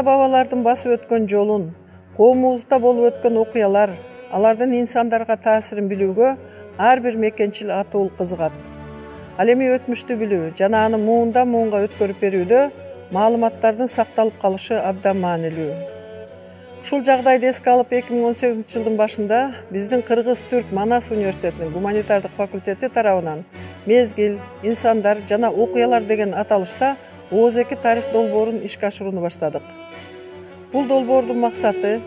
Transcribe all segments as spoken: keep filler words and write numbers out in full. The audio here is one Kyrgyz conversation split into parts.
ата-бабалардын басып өткөн жолун, коомубузда болуп өткөн окуялар, алардын инсандарга таасирин билүүгө ар бир мекенчил атуул кызыгат. Ал эми өтмүштү билүү жана аны муундан муунга өткөрүп берүүдө маалыматтардын сакталып калышы абдан маанилүү. Ушул жагдайды эске алып эки миң он сегизинчи жылдын башында биздин Кыргыз-Түрк Манас университетинин гуманитардык факультети тарабынан мезгил, инсандар жана окуялар деген аталышта Ооз эки тарых долбоорун ишке ашырууну баштадык. Бул долбоордун максаты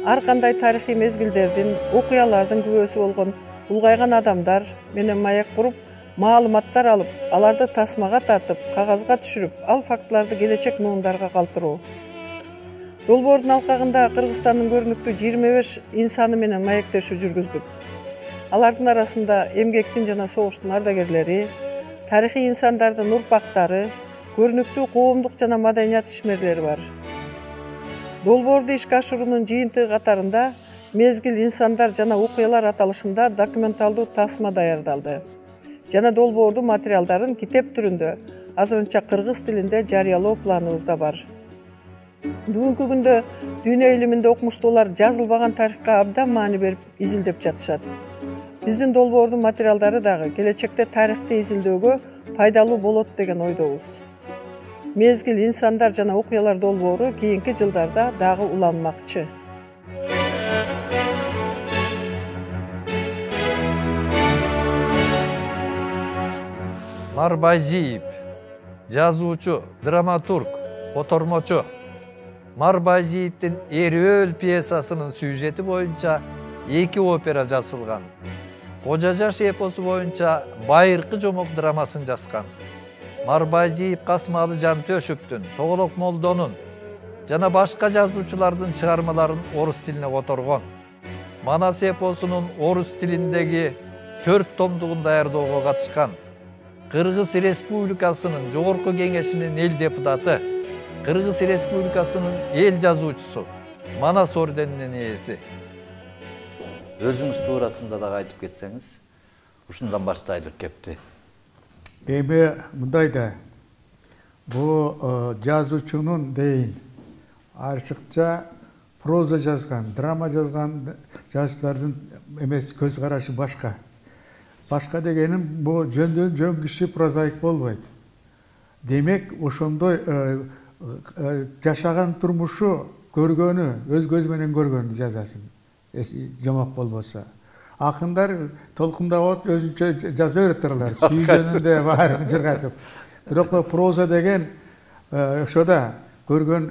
ар кандай тарыхый мезгилдердин, окуялардын күбөсү болгон улгайган адамдар менен маек куруп, маалыматтар алып, аларды тасмага тартып, кагазга түшүрүп, ал фактыларды келечек муундарга калтыруу. Долбоордун алкагында Кыргызстандын көрүнүктүү жыйырма беш инсаны менен маектешүү жүргүздүк. Алардын арасында эмгектин жана согуштун ардагерлери, тарыхый инсандардын урпактары, көрүнүктүү коомдук жана маданият ишмерлери бар. Долбоорду ишке ашыруунун жыйынтыгы катарында мезгил, инсандар жана окуялар аталышында документалдуу тасма даярдалды жана долбоордун материалдарын китеп түрүндө азырынча кыргыз тилинде жарыялоо планыбызда бар. Бүгүнкү күндө дүйнө илиминде окумуштуулар жазылбаган тарыхка абдан маани берип изилдеп жатышат. Биздин долбоордун материалдары дагы келечекте тарыхты изилдөөгө пайдалуу болот деген ойдобуз. Мезгил, инсандар жана окуялар долбоору кийинки жылдарда дагы уланмакчы. Марбайжиев, жазуучу, драматург, котормочу. Марбайжиевдин Эрөөл пьесасынын сюжети боюнча эки опера жазылган. Кожа жаш эпосу боюнча Байыркы жомок драмасын жазган. Марбайжиев Касымалы Жантөшевдүн, Тоголок Молдонун жана башка жазуучулардын чыгармаларын орус тилине которгон. Манас эпосунун орус тилиндеги төрт томдугун даярдоого катышкан. Кыргыз Республикасынын Жогорку Кеңешинин эл депутаты, Кыргыз Республикасынын эл жазуучусу, Манас орденинин ээси. Өзүңүз туурасында дагы айтып кетсеңиз, ушундан баштайлык кепти. Эми мындай да, бул жазуучунун дейин ачыкча проза жазган, драма жазган жазуучулардын эмес көз карашы башка. Башка дегеним бул жөндөн жөн киши прозаик болбойт. Демек, ошондой жашаган турмушу көргөнү, өз көзү менен көргөнү жазасың. Жомок болбосо. Акындар толкундап өзүнчө жаза берет, сүйгөнүндө баарын жыргатып. Бирок проза деген ошода көргөн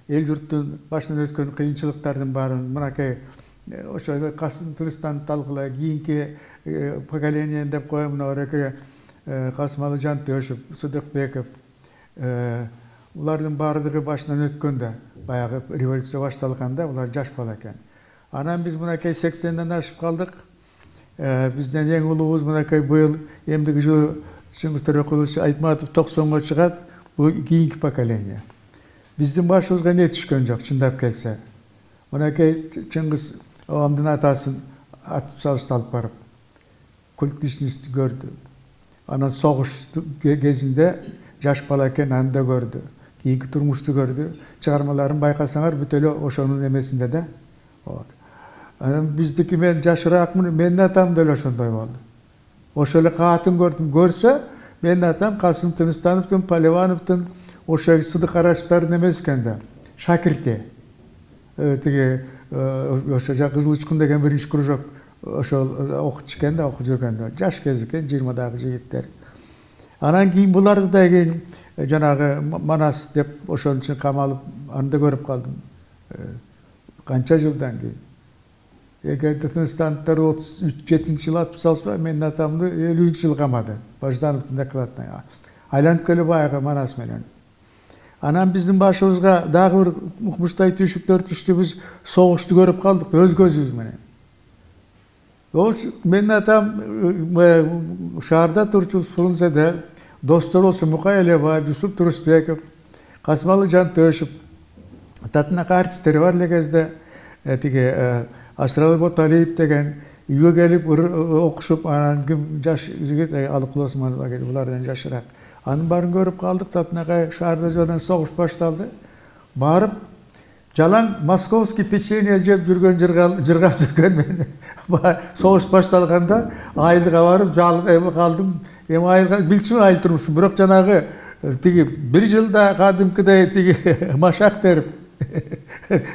эл журттун башынан өткөн кыйынчылыктардын баарын мынакей ошо Касым Тыныстанып талкуулай, кийинки поколение деп коем, мына ореке Касымалы Жантөшев, Сыдыкбеков, улардын баардыгы башынан өткөндө, баягы революция башталганда улар жаш бала экен. Анан биз мынакей сексенден ашып калдык. Бизден эң улуубуз мынакей быйыл эмдиги жылы Чыңгыз Төрөкулович Айтматов токсонго чыгат, бул кийинки поколение. Биздин башыбызга не түшкөн жок, чындап келсе. Мынакей Чыңгыз Обамдын атасын атып салышты алып барып, культ личностьти көрдү. Анан согуш кезинде жаш бала экен, аны да көрдү. Кийинки турмушту көрдү. Чыгармаларын байкасаңар бүт эле ошонун эмесинде да. Анан биздики мен жашыраакмын, менин атам да эле ошондой болду. Ошо эле каатын көрдүм. Көрсө, менин атам Касым Тыныстановдун, Поливановдун, ошо Сыдык Карачевдин эмес экен да, шакирти. Тиги ошо Кызыл Учкун деген биринчи кружок ошол окутчу экен да, окуп жүргөн да. Жаш кез экен, жыйырмадагы жигиттер. Анан кийин буларды да кийин жанагы Манас деп ошонун үчүн камалып, аны да көрүп калдым. Канча жылдан кийин. Эгерде Тыныстановдор отуз жетинчи жылы атып салса, менин атамды элүүнчү жылы камады. Баждановдун докладына. Айланып келип баягы Манас менен. Анан биздин башыбызга дагы бир укмуштай түйшүктөр түштү, биз согушту көрүп калдык өз көзүбүз менен. Менин атам шаарда турчу Фрунзеде достор болсо Мукай Элебаев, Юсуп Турусбеков, Касымалы Жантөшев, татынака артисттери бар эле кезде, тиги Асыралы Боталиев деген үйгө келип окушуп, анан ким жаш жигит Алыкул Осмонов келип, булардан жашыраак. Анын баарын көрүп калдык, татынакай шаарда жөнөн согуш башталды. Барып, жалаң московский печенье жеп жүргөн, жыргап жүргөн мен согуш башталганда айылга барып жалып эми калдым. Эми айылга билчүмүн айыл турмушун, бирок жанагы тиги бир жылда кадимкидей тиги машак терип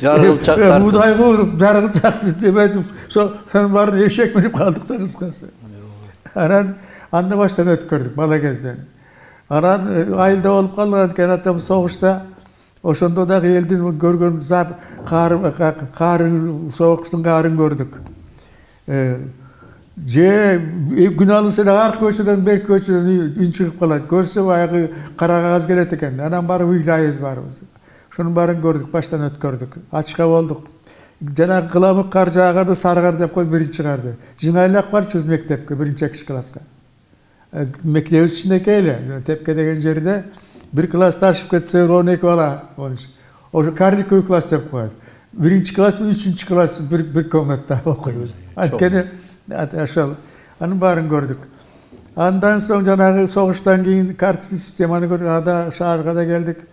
жаргылчак тартып мудай кууруп жаргылчаксыз деп айтып ошонун баарын эшек минип калдык да кыскасы. Анан анда баштан өткөрдүк бала кезден. Анан айылда болуп калган экен атам согушта. Ошондо дагы элдин көргөн каарын, согуштун каарын көрдүк. Же күн алысы эле аркы көчөдөн берки көчөдөн үн чыгып калат. Көрсө баягы кара кагаз келет экен. Анан барып уйлайбыз барыбыз. Ошонун баарын көрдүк, баштан өткөрдүк. Ачка болдук. Жанагы кыламык кар жааганда сары кар деп коюп биринчи карды. Жыңайлак барчыбыз мектепке, биринчи экинчи класска. Мектебибиз кичинекей эле, Тепке деген жерде бир класс ашып кетсе он эки бала. Ошо карниковый класс деп коет. Биринчи класс менен үчүнчү класс бир бир комнатада окуйбуз. Анткени ошол анын баарын көрдүк. Андан соң жанагы согуштан кийин карточный системаны көрдүк. Ада шаарга да келдик.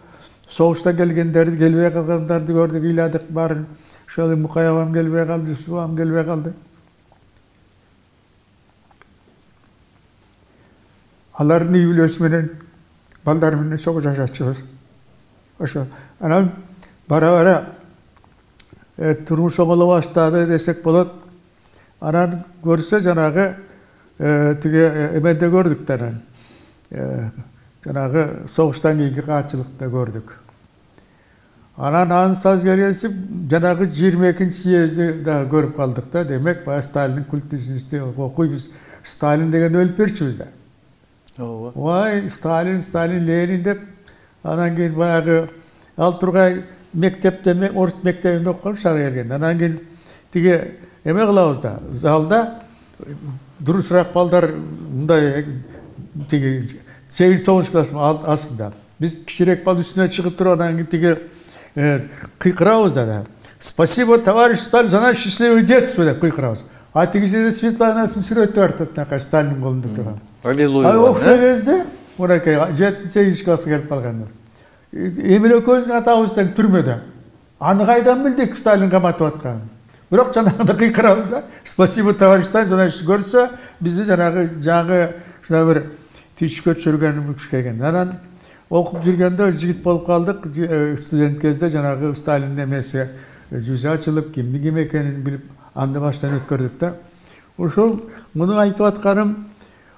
Согуштан келгендерди, келбей калгандарды көрдүк, ыйладык баарын. Ошол Мукай абам келбей калды, Юсуп абам келбей калды. Алардын үй бүлөсү менен, балдары менен чогуу жашачубуз. Ошо. Анан бара-бара турмуш оңоло баштады десек болот. Анан көрсө жанагы тиги эмеде көрдүк да анан. Жанагы согуштан кийинки каатчылыкты көрдүк. Анан ансыз келесип жанагы жыйырма экинчи съезди да көрүп калдык да. Демек, баягы Сталиндин культ личности окуйбуз. Сталин деген өлүп берчүбүз да. Ооба. Ой, Сталин, Сталин, Ленин деп анан кийин баягы ал тургай мектепте, орус мектебинде окуган шага келген. Анан кийин тиги эме кылабыз да, залда дурусураак балдар мындай тиги сегиз тогузунчу класс астында. Биз кичирээк бал үстүнө чыгып туруп анан кийин тиги кыйкырабыз да. Спасибо, товарищ Сталин, за наше счастливое детство деп кыйкырабыз. А тиги жерде Светланасын сүрөтү бар да, Сталиндин колунда турган. Аллилуйя. А окшо кезде мынакей жетинчи сегизинчи класска келип калгандар. Эмиль экөөбүздүн атабыз тең түрмөдө. Аны кайдан билдик Сталин каматып атканын? Бирок жанагында кыйкырабыз да. Спасибо, товарищ Сталин, жана көрсө бизди жанагы жаңы ушундай бир түйшүккө түшүргөн экен. Анан окуп жүргөндө жигит болуп калдык. Студент кезде жанагы Сталиндин эмеси жүзү ачылып, кимдин ким экенин билип, анда баштан өткөрдүк да. Ошол муну айтып атканым,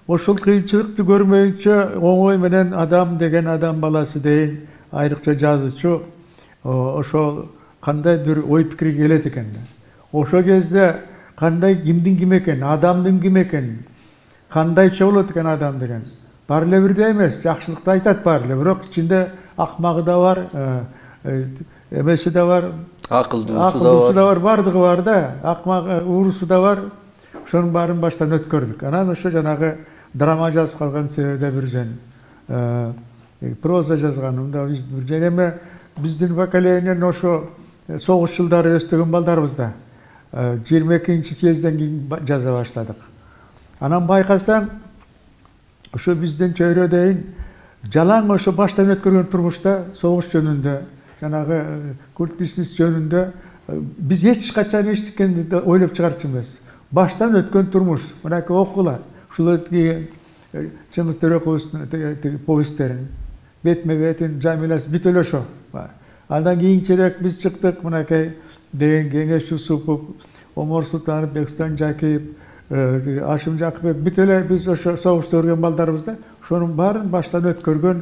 ошол кыйынчылыкты көрмөйүнчө оңой менен адам деген адам баласы дейин, айрыкча жазуучу ошол кандайдыр ой пикирге келет экен да. Ошол кезде кандай кимдин ким экенин, адамдын ким экенин, кандайча болот экен адам деген баары эле бирдей эмес, жакшылыкты айтат баары эле, бирок ичинде акмагы да бар, эмеси да бар, акылдуусу да бар, бардыгы бар да, акмак уурусу да бар. Ошонун баарын баштан өткөрдүк. Анан ошо жанагы драма жазып калган себеби бир жөн проза жазганым да бир жөн эме биздин поколениянын ошо согуш жылдары өстөгөн балдарыбыз да жыйырма экинчи съезден кийин жаза баштадык. Анан байкасаң ошо бизден чөйрө дейин жалаң ошо баштан өткөргөн турмушта согуш жөнүндө, жанагы культ личность жөнүндө биз эч качан эчтекени ойлоп чыгарчу эмес. Баштан өткөн турмуш, мынакей окула, ушул Чыңгыз Төрөкуловдун повесттерин, бетме-бетин, жамиласы бүт эле ошо. Андан кийинчерээк биз чыктык, мынакей деген Кеңеш Жусупов, Омор Султанов, Бекстан Жакиев, Ашым Жакыпов, бүт эле биз ошо согушта өргөн балдарыбыз да, ошонун баарын баштан өткөргөн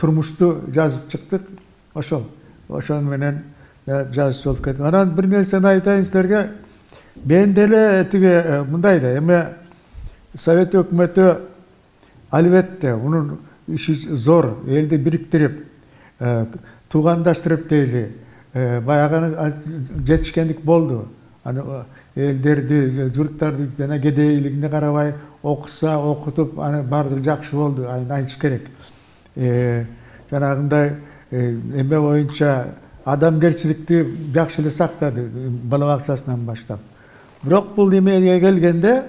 турмушту жазып чыктык. Ошол, ошон менен жазып болуп кеттик. Анан бир нерсени айтайын силерге. Мен деле тиги мындай да, эме Совет өкмөтү албетте унун иши зор, элди бириктирип, туугандаштырып дейли, баягы жетишкендик болду. Аны элдерди, журттарды жана кедейлигине карабай окуса, окутуп, аны баардыгы жакшы болду, айтыш керек. Жанагындай эме боюнча адамгерчиликти жакшы эле сактады, бала бакчасынан баштап. Бирок бул эмеге келгенде,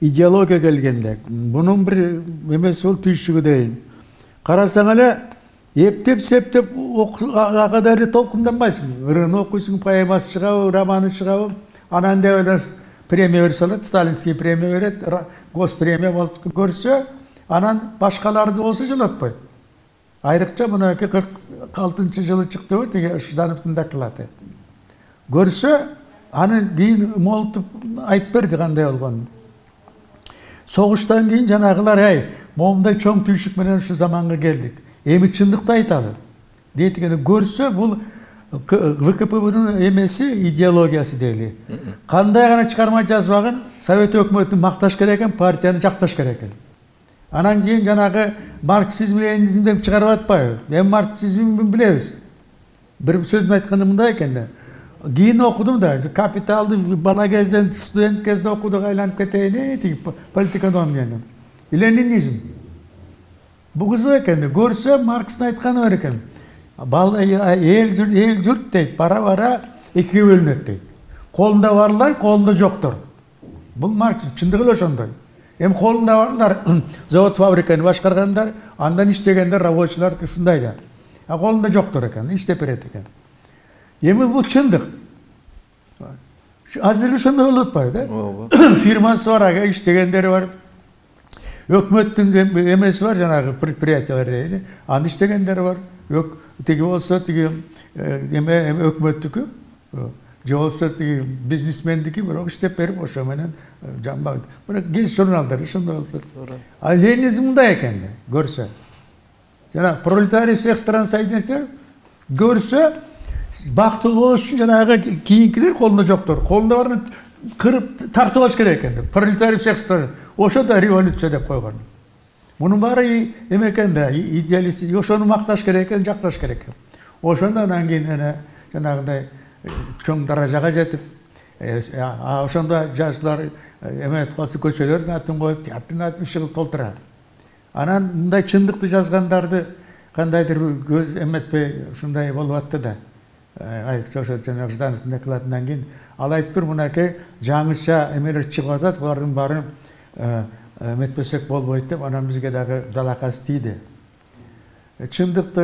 идеология келгенде, бунун бир эмеси бул түйшүгү дейин. Карасаң эле Ептеп септеп ага да толкунданбайсың. Ырын окуйсуң, поэмасы чыгабы, романы чыгабы, анан деп эле премия берип салат, сталинский премия берет, госпремия болуп көрсө, анан башкаларды болсо жолотпойт. Айрыкча мынакей кырк алтынчы жылы чыкты, тиги Ждановдун доклады. Көрсө, аны кийин Молотов айтып берди кандай болгонун. Согуштан кийин жанагылар, ай, момундай чоң түйшүк менен ушу заманга келдик. Эми чындыкты айталы. Дейт экен, көрсө бул вэ ка пэ бнын эмеси, идеологиясы дейли. Кандай гана чыгарма жазбагын Совет өкмөтүн макташ керек экен, партияны жакташ керек экен. Анан кийин жанагы марксизм, ленинизм деп чыгарып атпайбы? Эми марксизмди билебиз. Бир сөзүм айтканда мындай экен да. Кийин окудум да, Капиталды бала кезден, студент кезде окудук, айланып кетейин, тиги политэкономияны. Ленинизм. Бул кызык экен, көрсө Маркстын айтканы бар экен. Эл журт дейт, бара-бара экиге бөлүнөт дейт. Колунда барлар, колунда жоктор. Бул Маркс чындыгы эле ошондой. Эми колунда барлар завод фабриканы башкаргандар, андан иштегендер, рабочилар ушундай да. А колунда жоктор экен, иштеп берет экен. Эми бул чындык. Азыр ошондой болуп атпайбы да? Фирмасы бар, ага иштегендери бар. Өкмөттүн эмеси бар, жанагы предприятиялар дейли. Аны иштегендери бар. Тиги болсо тиги эме өкмөттүкү, же болсо тиги бизнесмендики, бирок иштеп берип ошо менен жамбайт. Бирок кез журналдар ошондой болуп. А ленинизм мындай экен да, көрсө. Жана пролетарий всех стран соединенных көрсө, бактылуу болуш үчүн жанагы кийинкилер колунда жоктор. Колунда барын кырып тартып алыш керек экен. Пролетарий всех стран. Ошо да революция деп койгон. Мунун баары эме экен да, идеалист, ошону макташ керек экен, жакташ керек экен. Ошондо анан кийин эне жанагындай чоң даражага жетип, ошондо жаштар эме калсы көчөлөрдүн атын коюп, театрдын атын ишигип толтура. Анан мындай чындыкты жазгандарды кандайдыр көз эметпей ушундай болуп атты да. Айрыкча ошо жанагы Ждановдун докладынан кийин ал айтыптыр, мынакей жаңыча эмелер чыгып атат, булардын баарын эметпесек болбойт деп, анан бизге дагы далакасы тийди. Чындыкты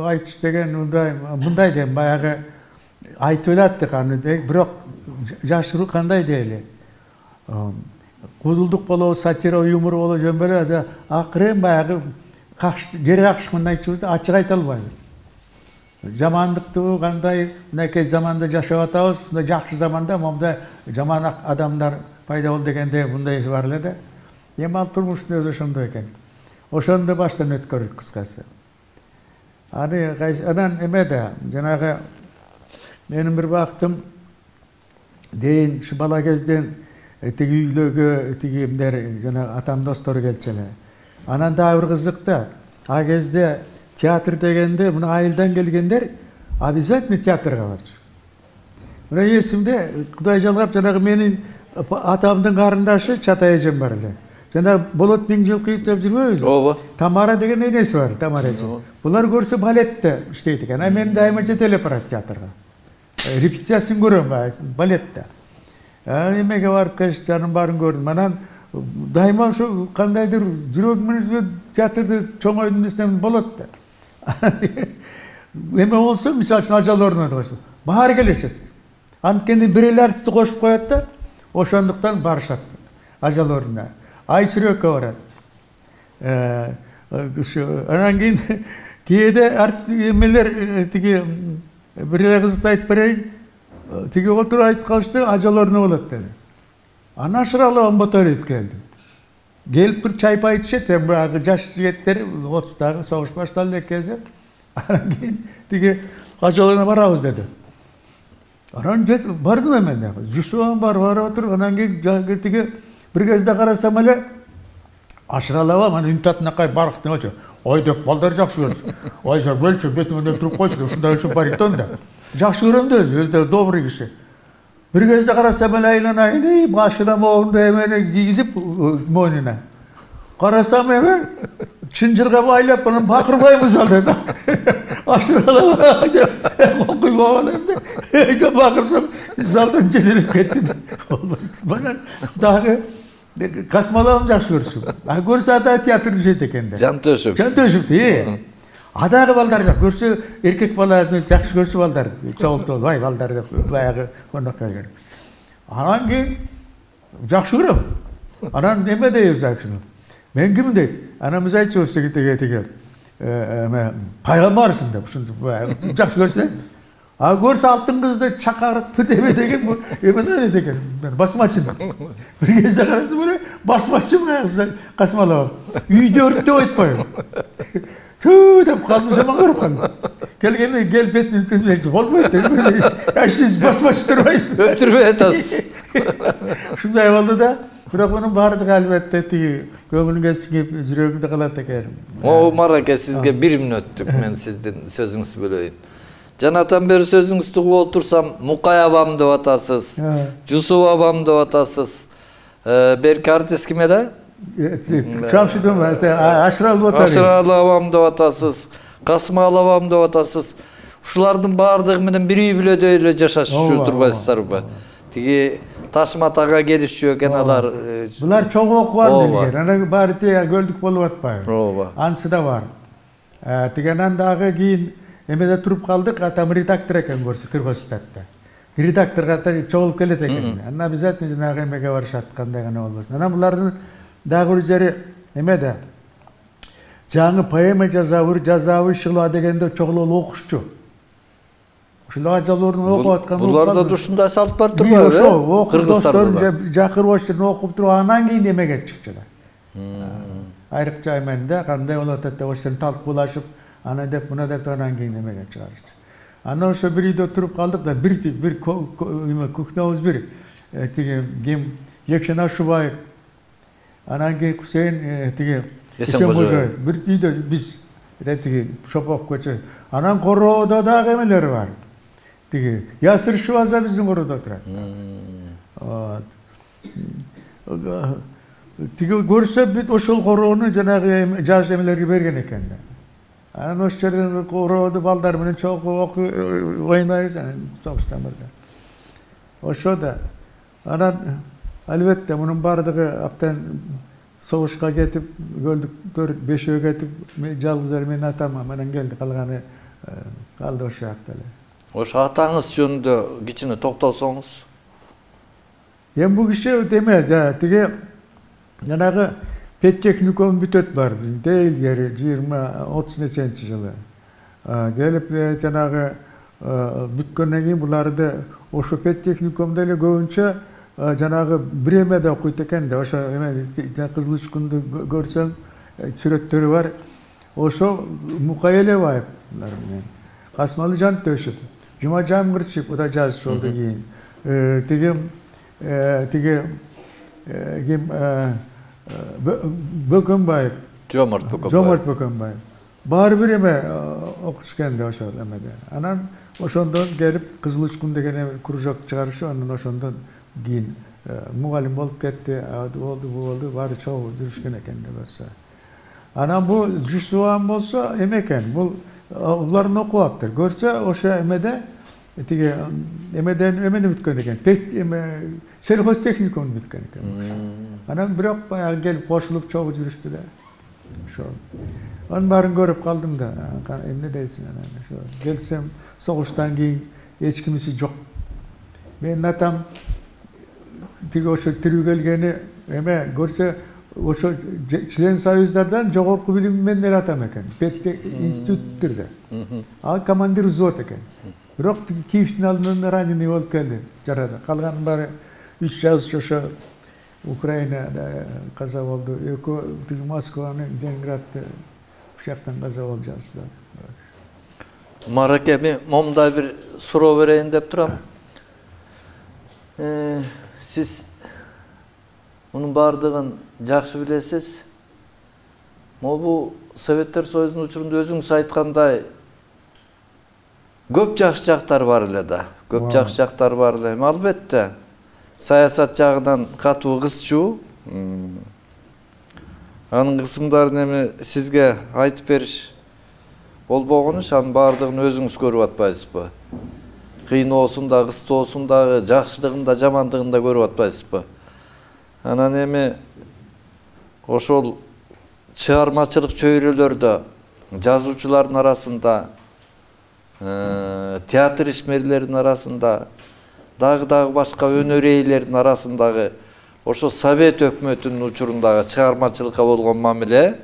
айтыш деген мындай, мындай дейм, баягы айтып элаттык аны, бирок жашыруу кандай дейли? Кудулдук болобу, сатира, юмор болобу, жөн беле да, акырын баягы жери какшык мындай чыгып ачык айта албайбыз. Жамандыкты кандай, мынакей заманда жашап атабыз, ушундай жакшы заманда момундай жаман адамдар пайда болду дегенде мындай бар эле да. Эми ал турмуштун өзү ошондой экен. Ошондо баштан өткөрдүк кыскасы. Аны анан эме да, жанагы менин бир бактым дейин ушу бала кезден тиги үйлөргө тиги эмдер жана атам достору келчү эле. Анан дагы бир кызык да, а кезде театр дегенде мына айылдан келгендер обязательно театрга барчу. Мына эсимде Кудай жалгап жанагы менин атамдын карындашы Чатай эжем бар эле. Жана Болот Миңжылкыев деп жүрбөйбүзбү? Ооба. Тамара деген энеси бар, Тамара эже. Булар көрсө балетте иштейт экен. А мен дайыма жетелеп барат театрга. Репетициясын көрөм балетте. Эмеге барып келип жанын баарын көрдүм. Анан дайыма ошо кандайдыр жүрөгүм менен театрды чоңойдун десем болот да. Эме болсо, мисалы үчүн ажал орнуна койсо, баары келишет. Анткени бир эле артистти кошуп коет да, ошондуктан барышат ажал орнуна. Ай чүрөккө барат. Анан кийин кээде артист эмелер тиги бир эле кызыкты айтып берейин. Тиги отуруп айтып калышты, ажал орнуна болот деди. Анан Ашыралып Ботолиев келди. Келип бир чай пай ичишет, баягы жаш жигиттер отуздагы согуш башталды эки кезде. Анан кийин тиги ажал орнуна барабыз деди. Анан бардым эмен дагы. Жусуан бар, барып отуруп, анан кийин тиги бир кезде карасам эле Ашыралып аны үнтатынакай барктын очу. Ой деп балдар жакшы көрчү. Ой жа бөлчү бетиңден туруп койчу, ушундай үчүн баритон да. Жакшы көрөм да өзү, өзү добрый киши. Бир кезде карасам эле айланайын, башына моунду эмени кийгизип мойнуна. Карасам эме чынжырга байлап, анан бакырбайбыз ал деди. Ашыралып деп окуйбаган эмне. Деп бакырсам залдан жетелеп кетти. Бана дагы Касмаловун жакшы көрчүм. А көрсө да театрды жейт экен да. Жантөшүп. Жантөшүп, э. Адагы балдар жок. Көрсө эркек баланы жакшы көрсө балдар чогултуп, "Вай балдар" деп баягы конокко келген. Анан кийин жакшы көрөм. Анан неме дейбиз акшыны. Мен ким дейт? Анан биз айтчубуз теге теге. Эме пайгамбарсың деп ушинтип жакшы көрсө. А көрсө алтын кызды чакарып деме деген бу эмне деген. Басмачы. Бир кезде карасам эле басмачы касмалап. Үйдө өрттөп айтпайм. Түү деп калдым, жаман көрүп калдым. Келгенде кел бетин түнөйт болбойт деп. А сиз басмачы турбайсыз. Өптүрбөй атасыз. Ушундай болду да. Бирок мунун баардыгы албетте тиги көңүлүңө сиңип жүрөгүңдө калат экен. Омар аке, сизге бир мүнөттүк мен сиздин сөзүңүздү бөлөйүн. Жанатан бери сөзүңүздү угуп отурсам, Мукай абам деп атасыз, Жусуп абам деп атасыз. Берки артист ким эле? Чамшидым, Ашыралы отары. Ашыралы абам деп атасыз, Касымалы абам деп атасыз. Ушулардын баардыгы менен бир үй бүлөдөй эле жашашчу турбайсыздарбы? Тиги Ташмат ага келишчү экен алар. Булар чоң окуган делген. Анан баары тиги көлдүк болуп атпайбы? Ооба. Анысы да бар. Тигенен дагы кийин эмеде туруп калдык, атам редактор экен көрсө Кыргызстанда. Редакторго ата чогулуп келет экен. Анан обязательно жанагы эмеге барышат, кандай гана болбосун. Анан булардын дагы бир жери эмеде жаңы поэма жазабы, жазабы шыла дегенде чогулуп окушчу. Ушулар жалоорун окуп аткан. Буларда да ушундай салт бар турбайбы? Кыргызстанда жакыр башын окуп туруп анан кийин эмеге чыкчулар. Айрыкча эмende кандай болот деп ошон талкуулашып, ана деп мына деп анан кийин эмеге чыгарышты. Анан ошо бир үйдө туруп калдык да бир бир кухнябыз бир тиги ким Екшен Ашубаев, анан кийин Кусейин тиги Эсенкожоев бир үйдө биз тиги Шопов көчө. Анан короодо дагы эмелер бар. Тиги Ясир Шубаза биздин короодо турат. Тиги көрсө бүт ошол короону жанагы жаш эмелерге берген экен да. Анан ошол жерден корооду балдар менен чогуу ойнойбуз анан согуштан бирде. Ошо да. Анан албетте мунун баардыгы аптан согушка кетип, көлдүктөр бешөө кетип, жалгыз эле менин атам менен келди, калганы калды ошол жакта эле. Ошо атаңыз жөнүндө кичине токтолсоңуз. Эми бул киши деме, тиги жанагы педтехникум бүтөт бар. Дейлгери жыйырма отуз неченчи жылы. Келип жанагы бүткөндөн кийин буларды ошо педтехникумда эле көбүнчө жанагы Бремеде окуйт экен да. Ошо эме Кызыл Учкунду көрсөң сүрөттөрү бар. Ошо Мукай Элебаев менен Касымалы Жантөшев, Жумажан Кырчиев да жазыш болду кийин. Тиги тиги ким Бөкөнбаев, Жомарт Бөкөнбаев. Жомарт Бөкөнбаев. Баары бир эме окутушкан да ошол эмеде. Анан ошондон келип Кызыл Учкун деген кружок чыгарышы, анан ошондон кийин мугалим болуп кетти, болду, болду, баары чогуу жүрүшкөн экен деп болсо. Анан бул Жусуам болсо эме экен, бул уларын окуптыр. Көрсө ошо эмеде тиги эмеден эмени бүткөн экен. Пек эме сельхозтехникумду бүткөн экен. Анан бирок баягы келип кошулуп чогуу жүрүштү да. Ошо. Анын баарын көрүп калдым да. Эмне дейсиң анан? Ошо келсем согуштан кийин эч кимиси жок. Менин атам тиги ошо тирүү келгени эме көрсө ошо член союздардан жогорку билим менен эле атам экен. Петте институттурда. Ал командир взвод экен. Бирок Киевдин алдынан раненый болуп келди. Жарады. Калганын баары үч жаз ошо Украинада каза болду. Экөө тиги Москваны, Ленинградты ушактан каза болуп жаздылар. Мараке, мен момундай бир суроо берейин деп турам. Сиз мунун баардыгын жакшы билесиз. Могу Советтер Союзунун учурунда өзүңүз айткандай көп жакшы жактар бар эле да. Көп жакшы жактар бар эле. Албетте саясат жагынан катуу кызчу. Анын кысымдарын эми сизге айтып бериш болбогону, анын баардыгын өзүңүз көрүп атпайсызбы? Кыйноосун да, кыстоосун да, жакшылыгын да, жамандыгын да көрүп атпайсызбы? Анан эми ошол чыгармачылык чөйрөлөрдө жазуучулардын арасында, театр ишмерлеринин арасында, дагы дагы башка өнөр ээлеринин арасындагы ошо Совет өкмөтүнүн учурундагы чыгармачылыкка болгон мамиле,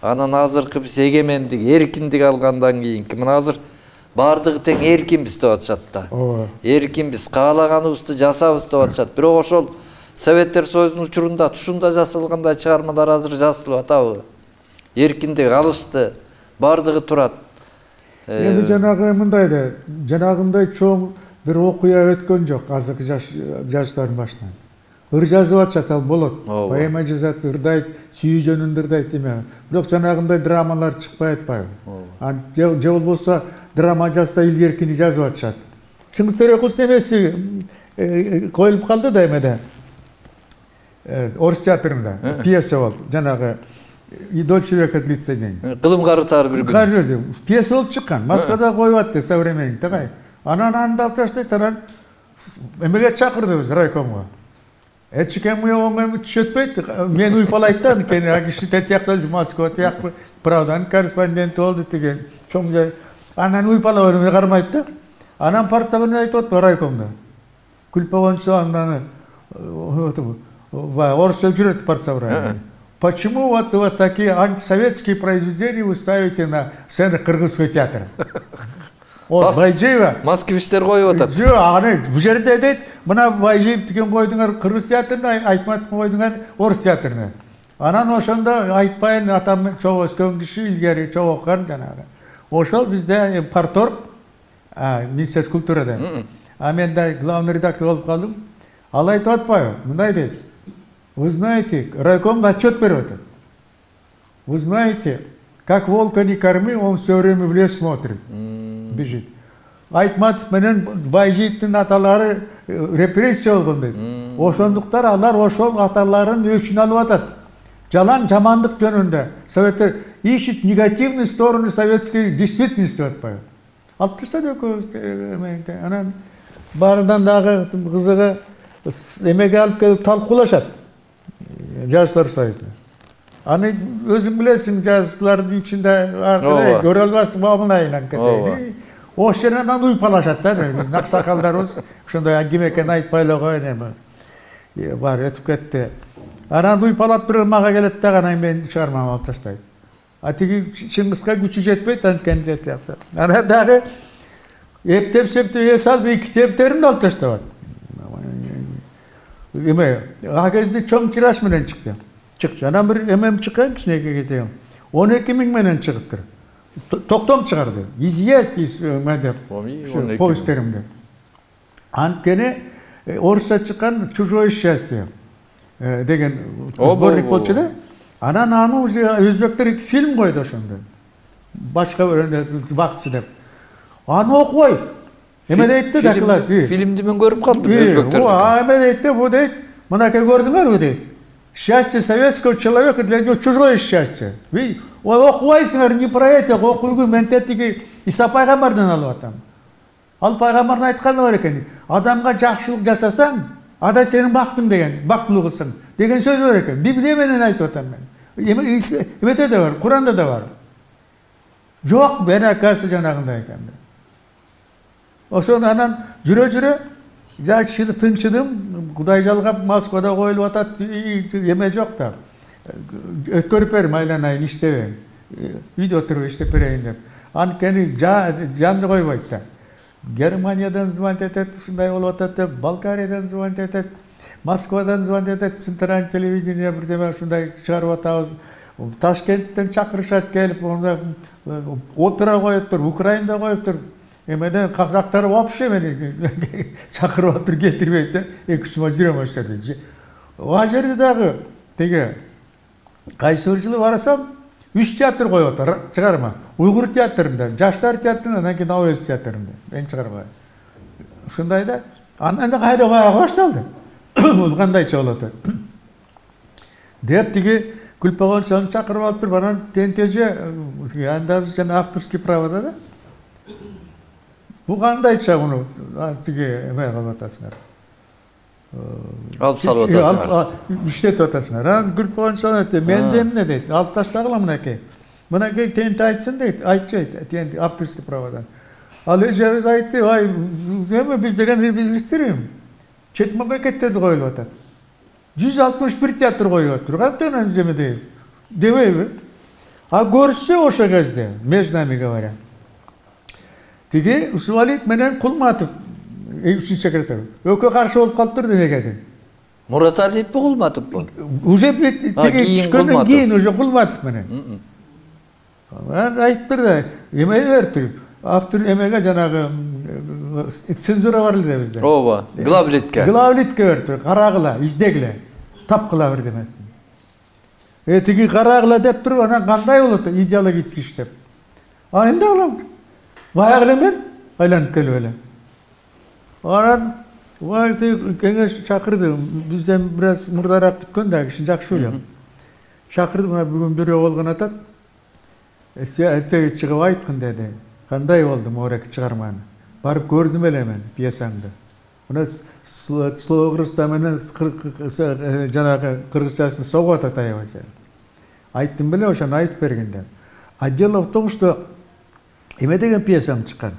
анан азыркы биз эгемендик, эркиндик алгандан кийинки мына азыр баардыгы тең эркинбиз деп атышат да. Эркинбиз, каалаганыбызды жасабыз деп атышат. Бирок ошол Советтер Союзунун учурунда тушунда жасалгандай чыгармалар азыр жазылып атабы? Эркиндик алышты, баардыгы турат. Эми жанагы мындай да, жанагындай чоң бир окуя өткөн жок азыркы жаштардын башынан. Ыр жазып атышат, ал болот. Поэма жазат, ырдайт, сүйүү жөнүндө ырдайт эме. Бирок жанагындай драмалар чыкпай атпайбы? Же болбосо драма жазса илгеркини жазып атышат. Чыңгыз Төрөкуловдун эмеси коюлуп калды да эмеде. Орус театрында пьеса болду. Жанагы И дольче века длится день. Кылым карытар бир күн. Пьеса болуп чыккан. Москвада коюп атты современник такай. Анан аны алып таштайт, анан эмеге чакырдыбыз райкомго. Эчикем оңой түшөтпөйт. Мен уйпалайт да, анткени а киши тиякта Москва тияк правданын корреспонденти болду деген. Чоң жай. Анан уйпалап өрүмө кармайт да. Анан парсабын айтып атпы райкомдо. Күлпөгөнчө андан орусча жүрөт парсабра. Почему вот, вот такие антисоветские произведения вы ставите на сцену Кыргызского театра? Вот, Байжиева. Москвичтер коюп атат. Жок, аны бул жерде дейт, мына Байжиев деген койдуңар Кыргыз театрына, Айтматов койдуңар Орус театрына. Анан ошондо айтпайын атам чоң өскөн киши илгери чоң окуган жанагы. Ошол бизде парторг, Министерство культурада. А мен да главный редактор болуп калдым. Ал айтып атпайбы? Мындай дейт. Вы знаете, райком отчет берет. Вы знаете, как волка не корми, он все время в лес смотрит, бежит. Айтматов менен Байжиевдин аталары репрессия болгон дейт. Ошондуктар алар ошол аталарын өчүн алып атат. Жалаң жамандык жөнүндө. Советтер ищет негативные стороны советской действительности атпайбы. Алып таштап экөөбүз. Анан баарынан дагы кызыгы эмеге алып келип талкуулашат. Жазуулар союзуна. Аны өзүң билесиң, жазуулардын ичинде аркылы көрө албассың, бабынайын анткени. Ошол жерден анан уйпалашат да, биздин аксакалдарыбыз ошондой ким экенин айтпай эле коеюн эми. Бар өтүп кетти. Анан уйпалап туруп мага келет да, анан мен чыгармамды алып таштайт. А тиги Чыңгызга күчү жетпейт анткени деп. Анан дагы эптеп септеп эс алып эки китептеримди алып таштабат. Эме, а кезде чоң тираж менен чыкты. Чыкчы. Анан бир эмем чыккан кичинекей кетем. он эки миң менен чыгыптыр. Токтом чыгарды. Изъять из медеп. Повесттеримди. Анткени орусча чыккан «Чужое счастье» деген сборник болчу да. Анан аны уже өзбектер фильм койду ошондо. Башка биринде бакчы деп. Аны окубайт. Эме дейтти докладт. Фильмди мен көрүп калдым өзбектерди. А эме дейтти, бу дейт, мынакей көрдүңөрбү дейт. Счастье советского человека для него чужое счастье. Ой, окубайсыңар, не про это, окуйгу мен тетиги Иса пайгамбардан алып атам. Ал пайгамбардын айтканы бар экен. Адамга жакшылык жасасаң, ада сенин бактың деген, бактылуусуң деген сөз бар экен. Библия менен айтып атам мен. Эме эмеде да бар, Куранда да бар. Жок, мен акасы жанагындай экен. Ошон анан жүрө-жүрө жакшыны тынчыдым. Кудай жалгап Москвада коюлуп атат, эме жок да. Өткөрүп берим, айланайын, иштебейм. Үйдө отуруп иштеп берейин деп. Анткени жанды койбойт да. Германиядан звонить этет, ушундай болуп атат деп, Болгариядан звонить этет, Москвадан звонить этет, центральный телевидение бирдеме ушундай чыгарып атабыз. Ташкенттен чакырышат келип, опера коюптур, Украинада коюптур. Эмеден казактар вообще мени чакырып атыр, кетирбейт да. эки үч жыл жүрөм ошол жерде. Ал жерде дагы теге кайсы бир жылы барасам, үч театр коюп атыр, чыгарма. Уйгур театрында, Жаштар театрында, анан кийин Ауыз театрында. Мен чыгарма. Ушундай да. Анан да кайра коя башталды. Бул кандайча болот деп тиги Күлпөгөнчөнү чакырып алып туруп, анан тентеже анда биз жана авторский правода да. Бу кандайча муну тиги эме кылып атасыңар. Алып салып атасыңар. Иштетип атасыңар. Анан Күлпөгөнчөн айтты, мен де эмне дейт, алып таштагыла мынакей. Мынакей тенти айтсын дейт, айтчайт, тенти авторский праводан. Ал эжебиз айтты, ай, эме биз деген бизнестер чет мамлекеттерде коюлуп атат. жүз алтымыш бир театр коюп атыр. Кантип биз эме дейбиз? Дебейби? А көрсө ошо кезде, между нами говоря. Тиги Усмалиев менен Кулматов, üçüncü секретарь. Өкө каршы болуп калыптыр денегеден. Мураталиев бу Кулматовбу? Уже тиги түшкөндөн кийин уже Кулматов менен. Айтыптыр да, эме бериптир. Автор эмеге жанагы цензура бар эле бизде. Ооба, главлитке. Главлитке бериптир, карагыла, издегиле, тапкыла бир демесин. Э тиги карагыла деп туруп, анан кандай болот идеологический иштеп. А эмне кылам? Баягы эле мен айланып келип элем. Анан вакыты кеңеш чакырды. Бизден бир аз мурдараак бүткөн да, киши жакшы билем. Чакырды, мына бүгүн бирөө болгон атат. Эсеге чыгып айткын деди. Кандай болду Моорек чыгарманы? Барып көрдүм эле мен пьесаңды. Мына слово кыргызча менен жанагы кыргызчасын согуп атат аябайча. Айттым беле, ошону айтып бергенде. А дело в том, что эме деген пьесам чыккан.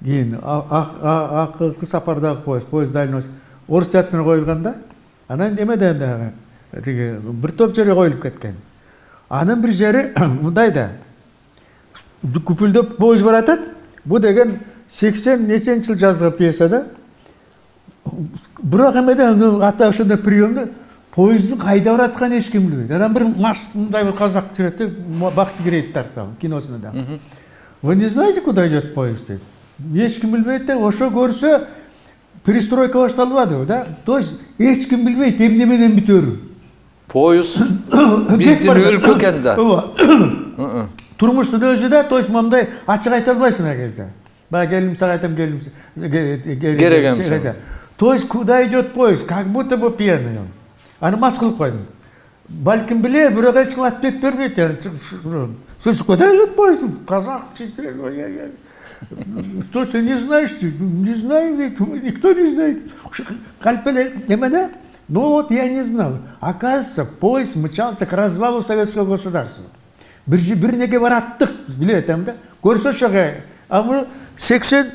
Кийин акыркы сапардагы поезд, поезд дальность орус театрына коюлганда, анан эмеден дагы тиги бир топ жерге коюлуп кеткен. Анын бир жери мындай да. Күпүлдөп поезд баратат. Бу деген сексен неченчи жыл жазылган пьеса да. Бирок эмеден ата ошондой приемда поезддин кайда баратканын эч ким билбейт. Анан бир марш мындай бир казак жүрөт, Бактыгерейев тартабы киносунда да. Вы не знаете, куда идет поезд? Эч ким билбейт да, ошо көрсө перестройка башталбады, да? То есть эч ким билбейт эмне менен бүтөрүн. Поезд биздин өлкө экен да. Турмуштун өзү да, то есть мындай ачык айта албайсың а кезде. Баягы келим сага айтам, келим керек эмес. То есть куда идет поезд? Как будто бы пьяный он. Аны мас кылып койдум. Балким биле, бирок эч ким ответ бербейт. Слушай, куда идет поезд? Казак, что ты не знаешь? Не знаю, никто не знает. Кальпеле, эмеде? Ну вот я не знал. Оказывается, поезд мчался к развалу советского государства. Бир неге бараттык, билет эм да. Көрсө ошого. А бул сексен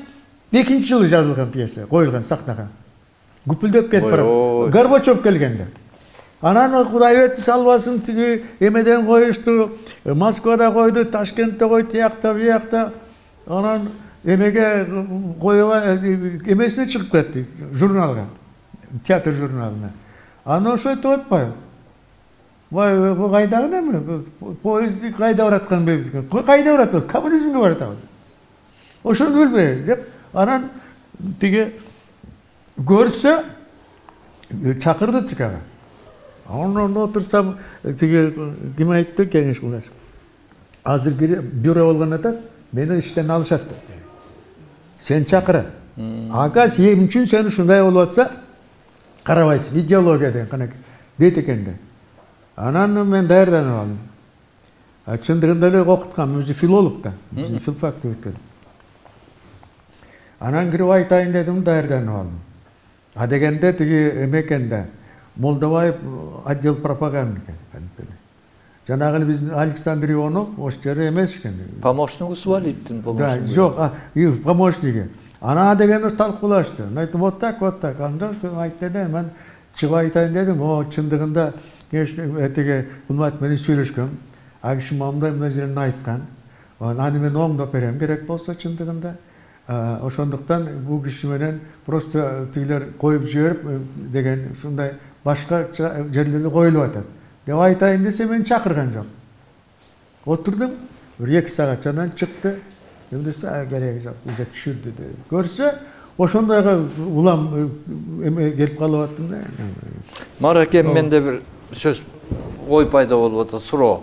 экинчи жылы жазылган пьеса, коюлган сахнага. Гүпүлдөп кетип барат. Горбачев келгенде. Анан Кудайберди салбасын тиги эмеден коюшту, Москвада койду, Ташкентте койду, тиякта, биякта. Анан эмеге коюп эмесине чыгып кетти, журналга, театр журналына. Анан ошо айтып атпайбы? Вай, бу кайдагы неме? Поезд кайда бараткан белгисиз. Кайда барат? Коммунизмге барат. Ошону билбей деп, анан тиги көрсө чакырды чыкага. Анан отурсам тиги ким айтты кеңеш кылган. Азыр бюро болгон атат, мени иштен алышат деп. Сен чакыр. Агас эми үчүн сен ушундай болуп атса, карабайсың, идеология деген канакей дейт экен да. Анан мен даярданып алдым. А чындыгында эле окуткам, өзү филолог да, биздин филфакты өткөн. Анан кирип айтайын дедим, даярданып алдым. А дегенде тиги эме экен да, Молдобаев отдел пропаганда экен. Жанагы эле биздин Александр Ионов ош жери эмес экен. Помощник Усмалиевдин помощниги. Да, жок, помощниги. Ана дегенде талкуулашты. Айтты, вот так, вот так. Анда айтты да, мен чыгып айтайын дедим. О, чындыгында этиге Кулматов менен сүйлөшкөм. А киши мындай мындай жерин айткан. Аны мен оңдоп берем керек болсо чындыгында. Ошондуктан бул киши менен просто тигилер коюп жиберип деген ушундай башка жерлерде коюлуп атат. Деп айтайын десе мени чакырган жок. Отурдум, бир эки саат анан чыкты. Эмдесе кереги жок, уже түшүрдү деп. Көрсө, ошондойго улам эме келип калып аттым да. Маракем менде бир сөз ой пайда болуп атат, суроо.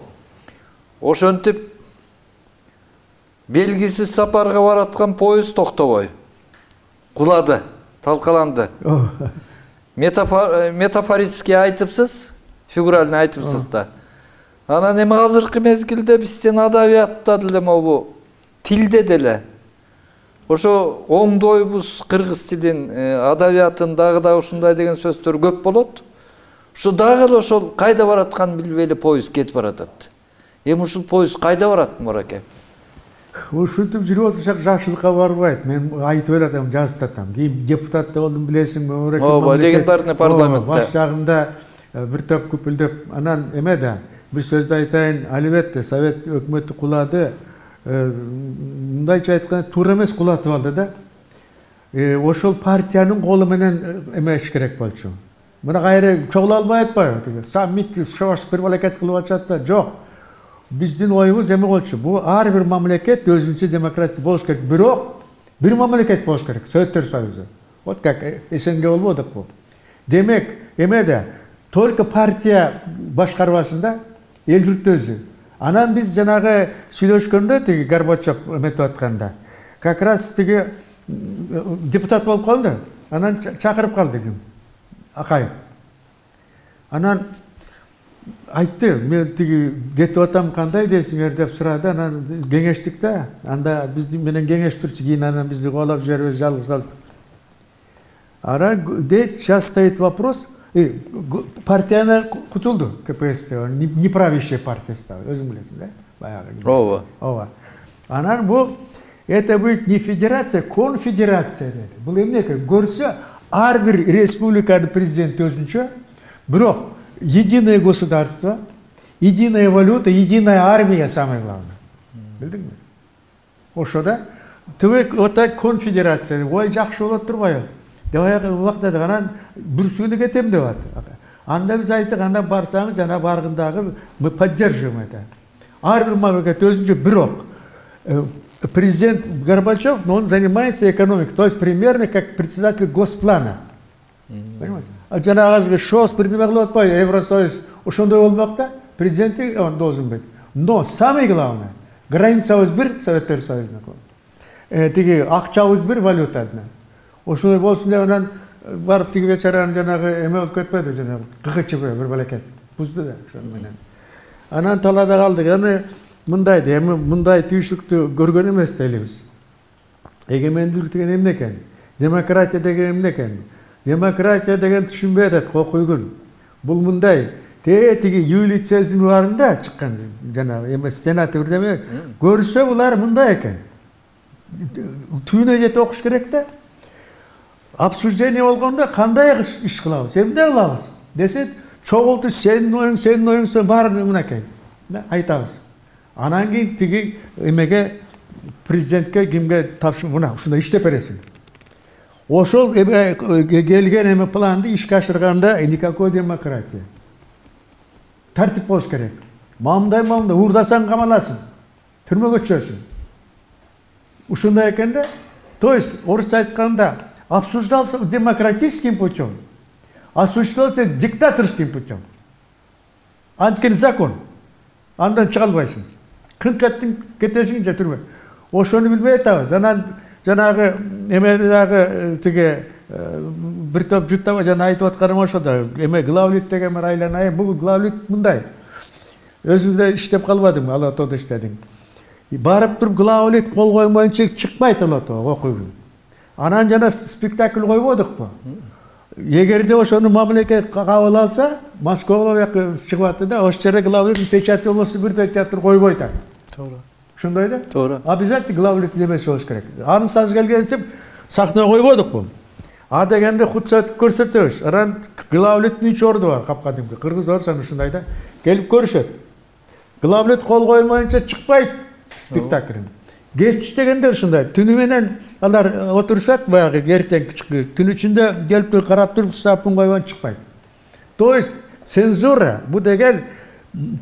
Ошентип белгисиз сапарга бараткан поезд токтобой кулады, талкаланды. Метафорически айтыпсыз, фигурально айтыпсыз да. Анан эми азыркы мезгилде биздин адабиятта деле могу тилде деле ошо оңдойбуз кыргыз тилин, адабиятын дагы да ушундай деген сөздөр көп болот. Ушу дагы эле ошол кайда баратканын билбей эле поезд кетип баратат. Эми ушул поезд кайда барат Мураке? Ушинтип жүрүп отурсак жакшылыкка барбайт. Мен айтып бератам, жазып татам. Кийин депутат да болдум, билесиңби, Мураке. Ооба, легендарный парламентте. Баш жагында бир топ күпүлдөп, анан эме да, бир сөздү айтайын, албетте Совет өкмөтү кулады. Мындайча айтканда туура эмес кулатып алды да. Ошол партиянын колу менен эмеш керек болчу. Мына кайра чогула албай атпайбы? Саммит, шош бир мамлекет кылып атышат да. Жок. Биздин оюбуз эме болчу. Бул ар бир мамлекет өзүнчө демократия болуш керек. Бирок бир мамлекет болуш керек. Советтер Союзу. Вот как СНГ болбодук бул. Демек, эме да только партия башкарбасында эл журт өзү. Анан биз жанагы сүйлөшкөндө тиги Горбачев эметип атканда, как раз тиги депутат болуп калды. Анан чакырып калды ким? Акаев. Анан айтты, мен тиги кетип атам, кандай дейсиңер деп сурады. Анан кеңештик да. Анда бизди менен кеңештирчи, кийин анан бизди коолап жиберип жалгыз калдык. Анан дейт, сейчас стоит вопрос. Партияны кутулду, КПС, неправящая партия стала, өзүң билесиң да? Баягы. Ооба. Ооба. Анан бул это будет не федерация, конфедерация деди. Бул эмнеке? Көрсө ар бир республиканын президенти өзүнчө, бирок единое государство, единая валюта, единая армия самое главное. Билдиңби? Ошо да. Төвөк ота конфедерация. Ой, жакшы болот турбайбы? Баягы убакта анан Брюссельге кетем деп атты. Анда биз айттык, анда барсаңыз жана баргындагы мы поддерживаем это. Ар бир мамлекет өзүнчө, бирок президент Горбачев, но он занимается экономикой, то есть примерно как председатель Госплана. Понимаете? А жанагы шос придеме кылып атпайбы, Евросоюз ошондой болмок да, президенти он должен быть. Но самое главное, границабыз бир, Советтер Союзуна. Э, тиги акчабыз бир, валюта одна. Ошондой болсун деп анан барып тиги бечараны жанагы эме болуп кетпеди, жанагы КХЧП бир балекет. Бузду да ошону менен. Анан талаада калдык. Аны мындай да, эми мындай түйшүктү көргөн эмес элибиз. Эгемендүүлүк деген эмне экен? Демократия деген эмне экен? Демократия деген түшүнбөй атат Кокуйгүл. Бул мындай, те тиги Юлий Цезарьдин убарында чыккан жанагы эме сенат бирдеме көрсө булар мындай экен. Түйүнө жетип окуш керек да. Обсуждение болгондо кандай иш кылабыз, эмне кылабыз десе, чогулту сенин оюң, сенин оюң, баарын мынакей айтабыз. Анан кийин тиги эмеге президентке кимге тапшырып, мына ушундай иштеп бересиң. Ошол келген эме планды ишке ашырганда никакой демократия. Тартип болуш керек. Мамдай мамдай уурдасаң камаласың, түрмөгө түшөсүң. Ушундай экен да. То есть орусча айтканда обсуждался демократическим путем, осуществлялся диктаторским путем. Анткени закон. Андан чыга албайсың. Кынкеттиң кетесиң же түрмө. Ошону билбей атабыз. Анан жанагы эме дагы тиги бир топ жуттаба жана айтып атканым ошо да. Эме главлит деген бир айланайын. Бул главлит мындай. Өзүм да иштеп калбадым, Алатоодо иштедим. Барып туруп главлит кол коймоюнча чыкпайт Алатоо окуйбу. Анан жана спектакль койбодукпу? Эгерде ошону мамлекет кабыл алса, Москвага чыгып атты да, ошол жерде главлит печать болбосо бир театр койбойт. Туура. Ошондой да? Туура. Обязательно главлит немеси болуш керек. Анын саз келгенсип сахнага койбодукпу? А дегенде худсат көрсөтөбүз. Анан главлиттин үч орду бар, капкадимки. Кыргыз орсун ушундай да. Келип көрүшөт. Главлит кол коймоюнча чыкпайт спектакль. Гест иштегенде ушундай. Түнү менен алар отурушат, баягы эртең кички. Түн ичинде келип туруп карап туруп стапын койгон чыкпайт. То есть цензура бу деген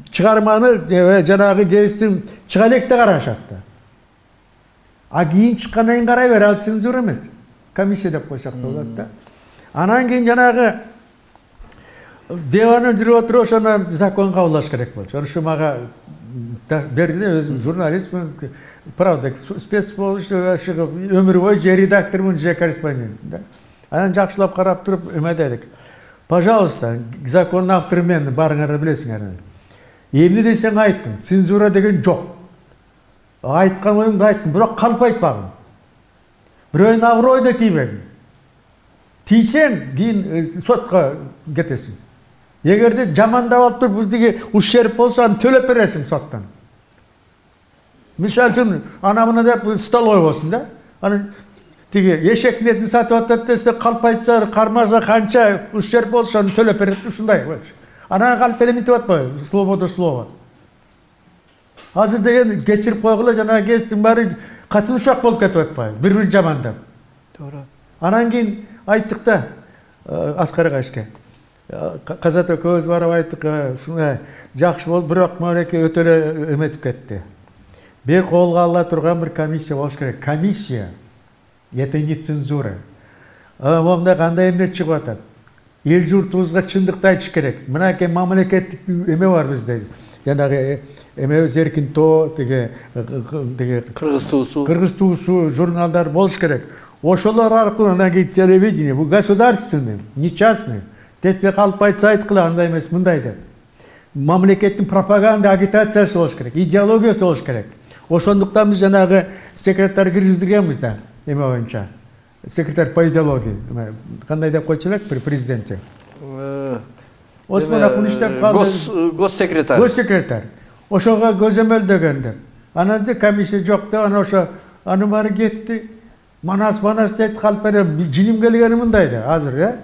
чыгарманы жанагы гесттин чыга электе карашат да. А кийин чыккандан кийин карай бер, ал цензура эмес. Комиссия деп койсок болот да. Анан кийин жанагы диванын жүрүп отуруп ошону закон кабылдаш керек болчу. Ошо мага берди, өзүм журналистмин. Правда, спец болуш өмүр бою же редактормун, же корреспондент да. Анан жакшылап карап туруп эме дедик. Пожалуйста, закондун автору мен, барыңар билесиңер. Эмне десең айткын, цензура деген жок. Айткан оюңду айткын, бирок калп айтпагын. Бирөөнүн абройуна тийбегин. Тийсең, кийин сотко кетесиң. Эгерде жамандап алып туруп бизге ущерб болсо аны төлөп бересиң соттон. Мисалы үчүн ана мына деп стол койбосун да. Аны тиги эшектин этин сатып атат десе, калп айтса, кармаса канча ущерб болсо аны төлөп берет, ушундай. Анан калп элеминтип атпайбы? Словодо слово. Азыр деген кечирип койгула, жана кесиптин баары катымшак болуп кетип атпайбы? Бири-бири жамандап. Туура. Анан кийин айттык да Аскар агачка. Казат экөөбүз барып айттык, ушундай жакшы болуп, бирок мынеки өтө эле эметип кетти. Бир колго ала турган бир комиссия болуш керек. Комиссия. Это не цензура. Момда кандай эмне чыгып атат? Эл журтубузга чындыкты айтыш керек. Мынакей мамлекеттик эме бар бизде. Жанагы эмебиз эркин тоо, тиги тиги Кыргыз туусу. Кыргыз туусу журналдар болуш керек. Ошолор аркылуу анан телевидение, бул государственный, не частный. Тетпе калып айтса айткыла, андай эмес, мындай деп. Мамлекеттин пропаганда агитациясы болуш керек, идеологиясы болуш керек. Ошондуктан биз жанагы секретарь киргиздиргенбиз да, эме боюнча. Секретарь по идеологии. Кандай деп койчу элек при президенте? Осмон Акун иштеп калды. Госсекретарь. Госсекретарь. Ошого көзөмөлдөгөн деп. Анан да комиссия жок деп, анан ошо аны баары кетти. Манас манас дейт, калп берем. Жилим келгени мындай да, азыр, э?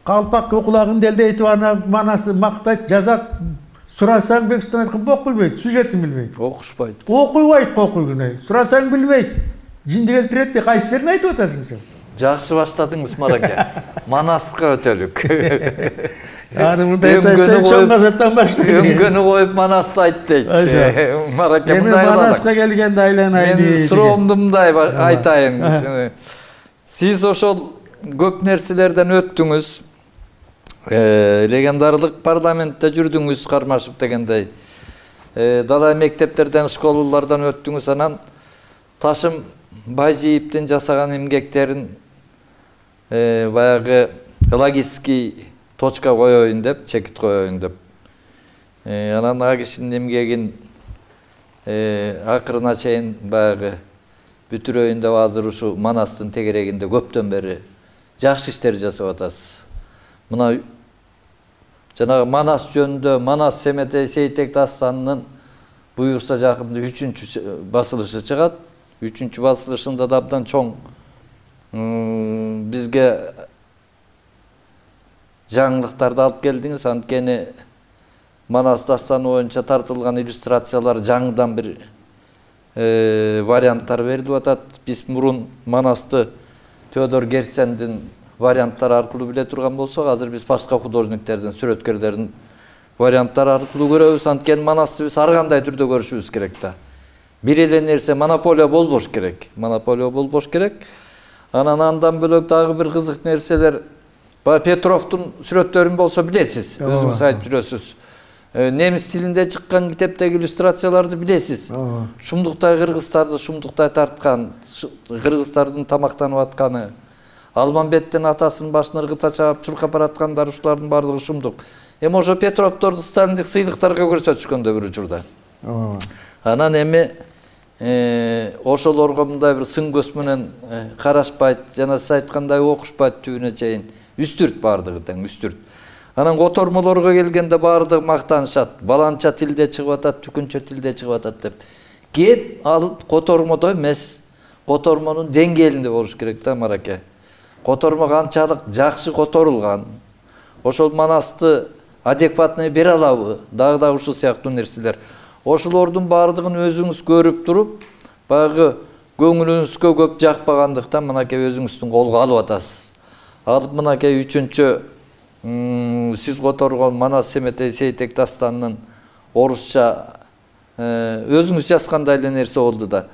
Калпак кулагын делдейтип, ана манасы мактайт, жазат. Сурасаң Бекстан айткан бок билбейт, сюжетин билбейт. Окушпайт. Окуйбайт, окуйгуна. Сурасаң билбейт. Жинди келтирет деп кайсысын айтып атасың сен? Жакшы баштадыңыз, Мараке. Манаска өтөлүк. Аны мындай айтсаң, чоң газеттен баштайт. Өңгөнү коюп Манасты айт дейт. Мараке мындай кылат. Манаска келгенде айланайын дейт. Мен суроомду мындай айтайын. Сиз ошол көп нерселерден өттүңүз. Легендарлык парламентте жүрдүңүз, Кармашев дегендей. Дала мектептерден, школалардан өттүңүз, анан Ташым Байжиевдин жасаган эмгектерин баягы логический точка коеюн деп, чекит коеюн деп. Анан ага кишинин эмгегин акырына чейин баягы бүтүрөйүн деп азыр ушу Манастын тегерегинде көптөн бери жакшы иштер жасап атасыз. Мына жанагы Манас жөнүндө Манас Семетей Сейтек дастанынын буюрса жакында үчүнчү басылышы чыгат. Үчүнчү басылышында да абдан чоң бизге жаңылыктарды алып келдиңиз. Анткени Манас дастаны боюнча тартылган иллюстрациялар жаңыдан бир варианттар берилип атат. Биз мурун Манасты Теодор Герцендин варианттары аркылуу биле турган болсок, азыр биз башка художниктердин, сүрөткерлердин варианттары аркылуу көрөбүз. Анткени Манасты биз ар кандай түрдө көрүшүбүз керек да. Бир эле нерсе монополия болбош керек. Монополия болбош керек. Анан андан бөлөк дагы бир кызык нерселер. Петровдун сүрөттөрүн болсо билесиз, өзүңүз айтып жүрөсүз. Немис тилинде чыккан китептеги иллюстрацияларды билесиз. Шумдуктай кыргыздарды шумдуктай тарткан, кыргыздардын тамактанып атканы, Алмамбеттин атасынын башын ыргыта чаап чуркап бараткандар, ушулардын баардыгы шумдук. Эми ошо Петровдорду сталиндик сыйлыктарга көрсөтүшкөндө бир учурда. Анан эми ошолорго мындай бир сын көз менен карашпайт, жана сиз айткандай окушпайт түбүнө чейин. Үстүрт баардыгы тең, үстүрт. Анан котормолорго келгенде баардыгы мактанышат. Баланча тилде чыгып атат, түкүнчө тилде чыгып атат деп. Кеп ал котормодо эмес, котормонун деңгээлинде болуш керек да, Мараке. Котормо канчалык жакшы которулган. Ошол Манасты адекватный бере алабы? Дагы да ушул сыяктуу нерселер. Ошолордун баардыгын өзүңүз көрүп туруп, баягы көңүлүңүзгө көп жакпагандыктан мынакей өзүңүздүн колго алып атасыз. Алып мынакей үчүнчү сиз которгон Манас Семетей Сейтек дастанынын орусча өзүңүз жазгандай эле нерсе болду да.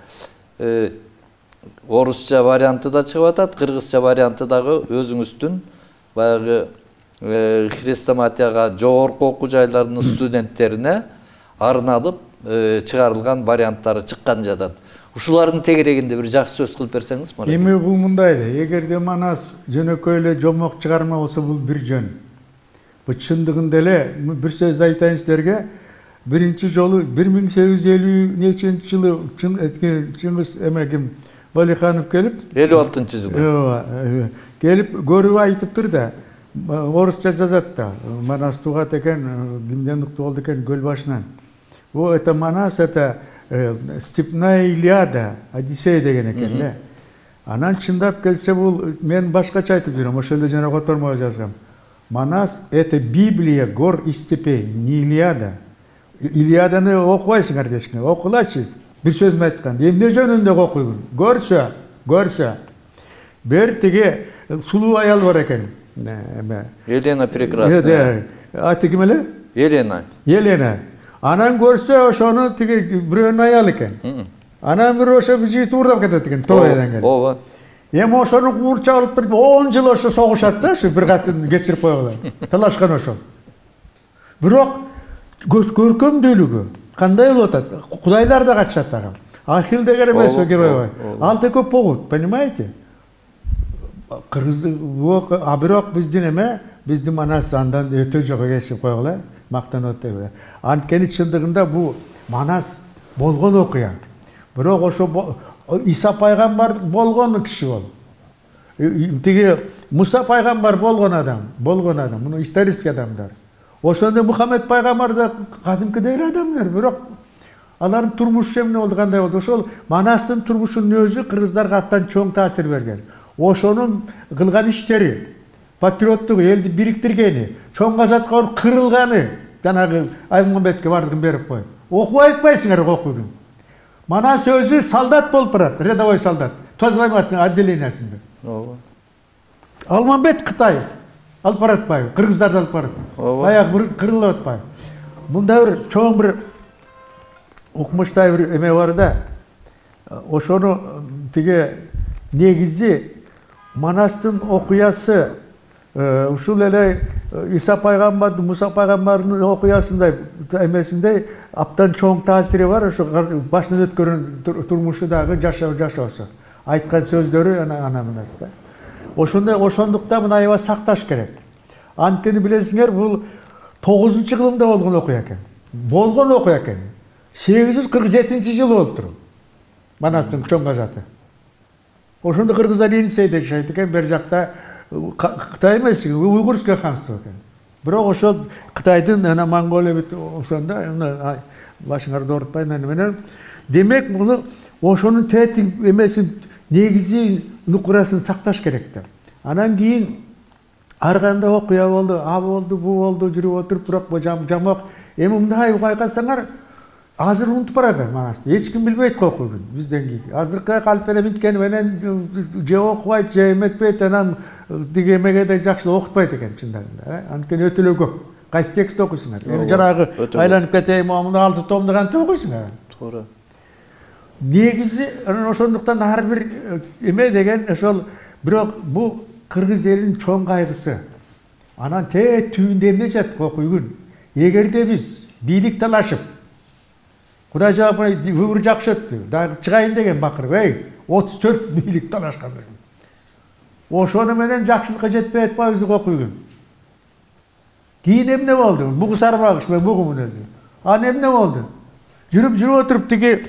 Орусча варианты да чыгып атат, кыргызча варианты дагы өзүңүздүн баягы хрестоматияга жогорку окуу жайларынын студенттерине арналып чыгарылган варианттары чыккан жатат. Ушулардын тегерегинде бир жакшы сөз кылып берсеңиз, Марат. Эми бул мындай да, эгерде Манас жөнөкөй эле жомок чыгарма болсо бул бир жөн. Бул чындыгында эле бир сөз айтайын силерге. Биринчи жолу бир миң сегиз жүз элүү нечинчи жылы Чыңгыз эмегим Валиханов келип, элүү алтынчы жылы. Ооба, келип көрүп айтыптыр да. орусча жазат да. Манас тугат экен, кимден укту болду экен, көл башынан. О, это Манас, это степная Илиада, Одиссей деген экен да. Анан чындап келсе бул мен башкача айтып жүрөм, ошол эле жана котормого жазгам. Манас это Библия гор и степей, не Илиада. Илиаданы окубайсыңар дешкен. Окулачы. Бир сөзмө айткан. Эмне жөнүндө окуйгун? Көрсө, көрсө. Бер тиги сулуу аял бар экен. Елена прекрасная. Аты ким эле? Елена. Елена. Анан көрсө ошону тиги бирөөнүн аялы экен. Анан бир ошо жигит уурдап кетет экен, Тойдан келип. Ооба. Эми ошону куурча алып туруп он жыл ошо согушат да, ушу бир катын кечирип койгула. Талашкан ошол. Бирок көркөмдүүлүгү кандай болуп атат? Кудайлар да катышат ага. Ахил деген эмеспи герой? Алты көп болот, понимаете? Кыргыз, а бирок биздин эме, биздин Манас андан өтө жогу кечип койгула, мактанып атат. Анткени чындыгында бул Манас болгон окуя. Бирок ошо Иса пайгамбар болгон киши бол. Тиги Муса пайгамбар болгон адам, болгон адам, муну исторический адамдар. Ошондо Мухаммед пайгамбар да кадимкидей эле адамдар, бирок алардын турмушу эмне болду, кандай болду? Ошол Манастын турмушунун өзү кыргыздарга аттан чоң таасир берген. Ошонун кылган иштери, патриоттугу, элди бириктиргени, чоң казатка барып кырылганы, жанагы Аймамбетке бардыгын берип коюп. Окуп айтпайсыңар, окуйгун. Манас өзү солдат болуп барат, рядовой солдат. Тозвайматтын отделениясында. Ооба. Алмамбет Кытай алып баратпайбы? Кыргыздарды алып барат. Баягы бир кырылып атпайбы? Мында бир чоң бир укмуштай бир эме бар да. Ошону тиги негизи Манастын окуясы ушул эле Иса пайгамбардын, Муса пайгамбардын окуясындай эмесиндей аптан чоң таасири бар, ошо башынан өткөрүн турмушу дагы жашоо жашоосу. Айткан сөздөрү ана анамынас да. Ошондой ошондуктан мына аябай сакташ керек. Анткени билесиңер, бул тогузунчу кылымда болгон окуя экен. Болгон окуя экен. сегиз жүз кырк жетинчи жылы болуптур. Манастын чоң казаты. Ошондо кыргыздар Енисейде жашайт экен, бер жакта Кытай эмес, уйгурское ханство экен. Бирок ошол Кытайдын ана Монголия бит ошондо башыңарды оорутпай менен. Демек, муну ошонун тетиң эмесин негизи нукурасын сакташ керек да. Анан кийин ар кандай окуя болду, а болду, бу болду, жүрүп отуруп, бирок бу жамок. Эми мындай байкасаңар, азыр унутуп барат Манас. Эч ким билбейт окуйгун бизден кийин. Азыркы калпене минткени менен же окубайт, же эметпейт, анан тиги эмеге да жакшы окутпайт экен чындыгында. Анткени өтө эле көп. Кайсы текст окуйсуңар? Эми жанагы айланып кетейин, муну алты томду кантип окуйсуңар? Туура. Негизи ошондуктан ар бир эме деген ошол, бирок бул кыргыз элинин чоң кайгысы. Анан те түбүндө эмне жатат окуйгун? Эгерде биз бийлик талашып, Кудай жапай выбор жакшы өттү, дагы чыгайын деген бакырып, эй, отуз төрт бийлик талашкандар. Ошону менен жакшылыкка жетпей атпайбыз окуйгун. Кийин эмне болду? Бугу сарбагыш мен бугумун өзү. Аны эмне болду? Жүрүп жүрүп отуруп тиги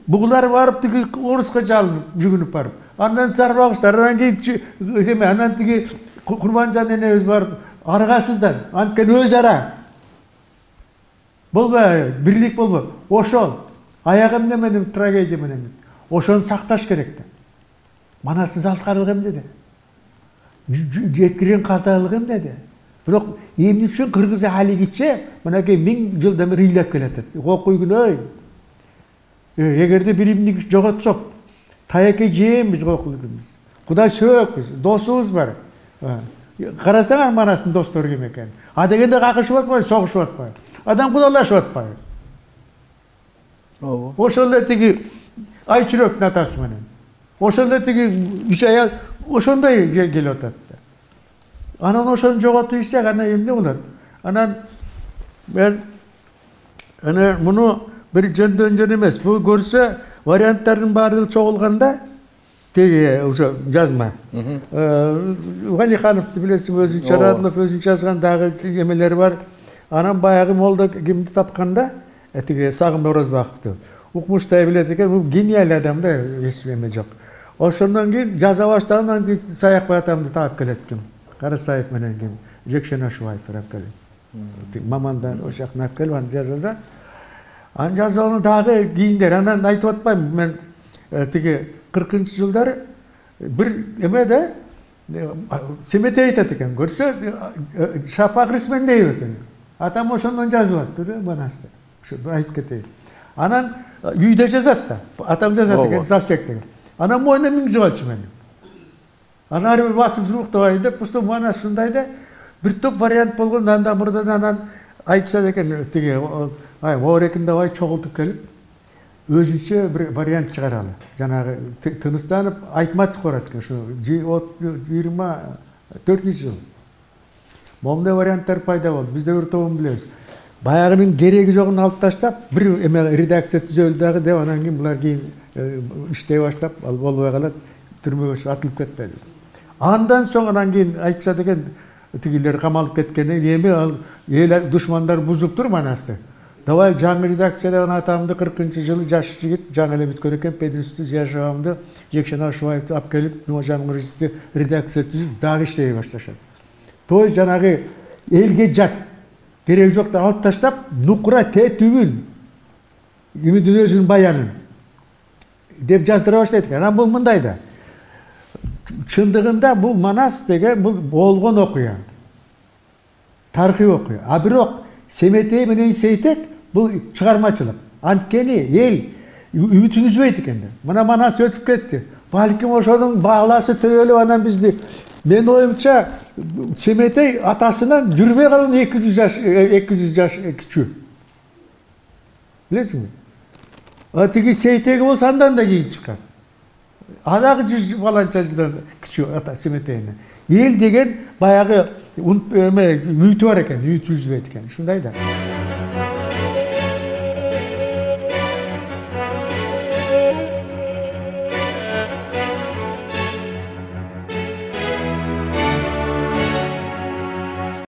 бугулар барып тиги Оруска жалынып, жүгүнүп барып. Андан сарбагыштар, анан кийин эме, анан тиги Курманжан энебиз барып аргасыздан, анткени өз ара. Болбой, бирлик болбой. Ошол аяк эмне менен трагедия менен. Ошону сакташ керек да. Манастын салткарлыгы эмнеде? Жеткирген каталыгы эмнеде? Бирок эмне үчүн кыргыз алигиче мынакей миң жылдан бери ыйлап келатат. Окуйгун ой. Эгерде биримди жоготсок, таяке жейбиз окуйгунбуз. Кудай сөөкпүз, досубуз бар. Карасаңар Манастын достору ким экен? А дегенде какышып атпайбы, согушуп атпайбы? Адам кудалашып атпайбы? Ооба. Ошол эле тиги Айчүрөктүн атасы менен. Ошол эле тиги үч аял ошондой келип атат. Анан ошону жоготуп ийсек, анан эмне болот? Анан мен ана муну бир жөндөн жөн эмес, бул көрсө варианттардын баардыгы чогулганда теги ошо жазма. Ванихановду билесиң, өзүнчө Радылов өзүнчө жазган дагы эмелери бар. Анан баягы молда кимди тапканда, тиги Сагынбай Орозбаковду укмуштай билет экен, бул гениаль адам да, эч эме жок. Ошондон кийин жаза баштаган, анан Саякбай атамды таап келет ким. Карасаев менен ким Жекшен Ашубаев келип мамандар ошактан алып келип аны жазат. Аны жазууну дагы кийиндер анан айтып атпайм мен тиги кыркынчы жылдары бир эмеде Семетей айтат экен, көрсө Шапак Рисмендеев экен. Атам ошондон жазып атты да Манасты. Ушу айтып кетейин. Анан үйдө жазат да. Атам жазат экен, Завсек деген. Анан мойнуна мингизип алчу мени. Анан ар бир басып журуктабай деп, ушу Манас ушундай да бир топ вариант болгон, анда мурдан анан айтышат экен, тиги ай Оорекин давай чогултуп келип, өзүнчө бир вариант чыгаралы. Жанагы тыныстанып Айтматов барат экен, ушу жыйырма төртүнчү жыл. Момундай варианттар пайда болду. Биз да бир тобун билебиз. Баягынын кереги жогун алып таштап, бир эме редакция түзөлдү дагы деп, анан кийин булар кийин иштей баштап, ал болбой калат, түрмөгө атылып кетти. Андан соң анан кийин айтышат экен, тигилер камалып кеткенден эми ал эл душмандар бузуп тур Манасты. Давай жаңы редакцияда атамды кыркынчы жылы жаш жигит жаңы эле бүткөн экен, Пединсти Зияшабамды, Жекшен Ашубаевди алып келип, жаңы редакция түзүп дагы иштей башташат. То есть жанагы элге жат, керек жок да алып таштап, нукура тетүүн Үмүттүн өзүнүн баянын деп жаздыра баштайт экен. Анан бул мындай да. Чындыгында бул Манас деген бул болгон окуя. Тарыхый окуя. А бирок Семетей менен Сейтек бул чыгармачылык. Анткени эл үмүтүн үзбөйт экен. Мына Манас өтүп кетти. Балким ошонун бааласы төбөлүп анан бизди. Мен оюмча Семетей атасынан жүрбөй калган эки жүз жаш эки жүз жаш кичүү. Билесиңби? А тиги Сейтеги болсо андан да кийин чыккан. Адагы жүз баланча жылдан кичүү ата Семетейинен. Эл деген баягы эме үмүтү бар экен, үмүтү үзбөйт экен. Ушундай да.